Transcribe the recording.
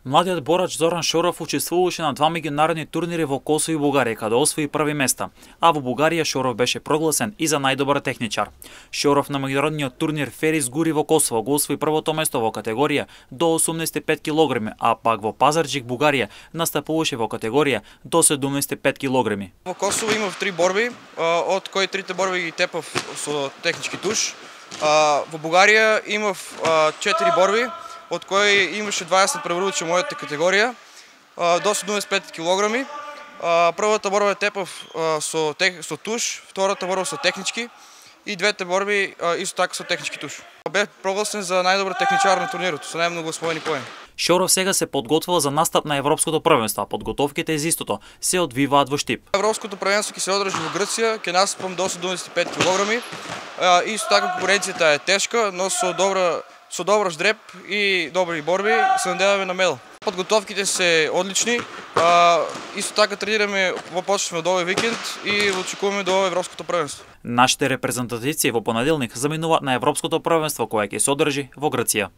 Младиот борач Зоран Шоров учествуваше на два меѓународни турнири во Косово и Бугарија, каде освои први места, а во Бугарија Шоров беше прогласен и за најдобар техничар. Шоров на меѓународниот турнир Ферис Гури во Косово го освои првото место во категорија до 85 кг, а пак во Пазарџик, Бугарија, настапуваше во категорија до 75 кг. Во Косово имав 3 борби, од кои трите борби ги тепав со технички туш. Во Бугарија имав 4 борби, од кои имаше 20 преврудичи мојата категорија, до 75 кг. Првата борба тепав со туш, втората борба со технички и двете борби исто така со технички туш. Бев прогласен за најдобар техничар на турнирот, со најмногу освоени поени. Шоров сега се подготвува за настап на Европското првенство, а подготовките за истото се одвиваат во Штип. Европското првенство ќе се одржи во Грција, ќе настапам до 75 кг. Исто така конкуренцијата е тешка, но со добар ждреб и добри борби се надеваме на медал. Подготовките се одлични. Исто така тренираме почнуваме од овој викенд и очекуваме до Европското првенство. Нашите репрезентативци во понеделник заминуваат на Европското првенство кое ќе се одржи во Грција.